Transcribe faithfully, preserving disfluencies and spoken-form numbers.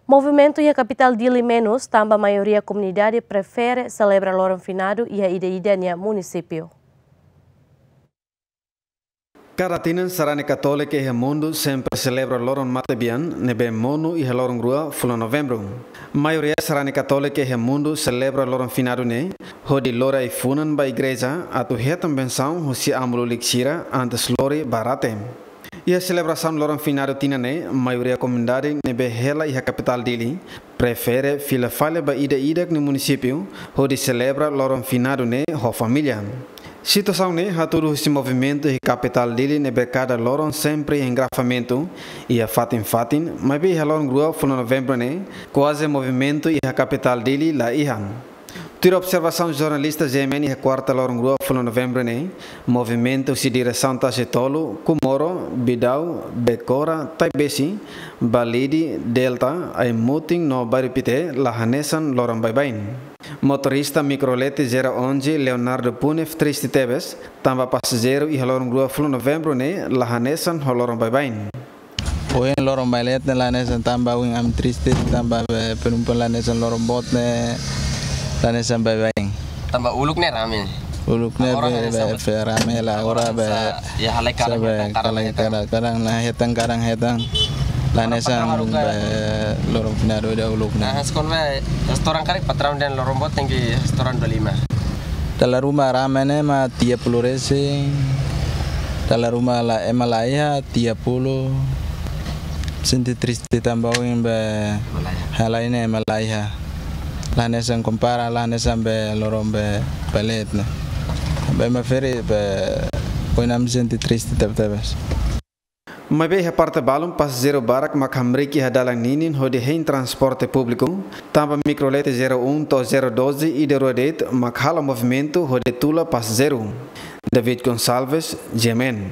Movimentu iha kapitál Dili menus, tanba maioria komunidade prefere selebra loron finadu iha ida-idak nia munisípiu. Kada tinan sarani katólika iha mundu sempre selebra loron matebian ne'ebé monu iha loron rua fulan Novembru. Maioria sarani katólika iha mundu selebra loron finadu ne'e hodi lori ai-funan ba igreja atu hetan bensaun husi amu lulik sira antes lori ba rate. Iha selebrasaun loron finadu tinan ne'e, maioria komunidade ne'ebé hela iha kapitál Dili prefere fila fali ba ida-idak nia munisípiu hodi selebra loron finadu ne'e ho família. Situasaun ne'e hatudu husi movimentu iha kapitál Dili ne'ebé kada loron sempre iha engarrafamentu iha fatin-fatin, maibé iha loron rua fulan Novembru ne'e kuaze movimentu iha kapitál Dili la iha. Tuir observasaun jornalista G M N iha kuarta loron rua fulan Novembru ne'e, movimentu husi diresaun Tasi Tolu, Kumoro, Bidau, Bekora, Taibesi, Balide, Delta, Ai-Mutin no Bairru Pité la hanesan loron baibain. Motorista mikrolete zero onze Leonardo Punef triste tebes, tanba pasajeiru iha loron rua fulan Novembru ne'e la hanesan ho loron baibain. Ohin loron baibain ne'e la hanesan, tanba ohin ami triste, tanba be penumpan la hanesan loron boot ne'e la hanesan baibain. Tanba uluk ne'e rame. Uluk ne'e be, be fe rame la ora be. Ya halai karan, karan, karan, karan, karan, la hetan, karan hetan. La hanesan be loron finadu ida uluk ne'e. Nah, sekolah be restoran kari patraun dan loron boot tenke restoran dua lima. Dala ruma rame ne'e mak tiga puluh resin. Dala ruma la ema la iha tiga puluh. Sente triste tanba ohin be halai ne'e ema la iha. La hanesan kompara, la hanesan be loron be baibain ne'e. Be ema ferik be ohin ami sente triste tebetebes. Maibé iha parte balun pasajeiru barak mak hamriik iha dalan ninin hodi hein transporte públiku, tanba mikrolete zero um to'o zero doze ida rua de'it mak halo movimentu hodi tula pasajeiru. David Gonçalves, G M N.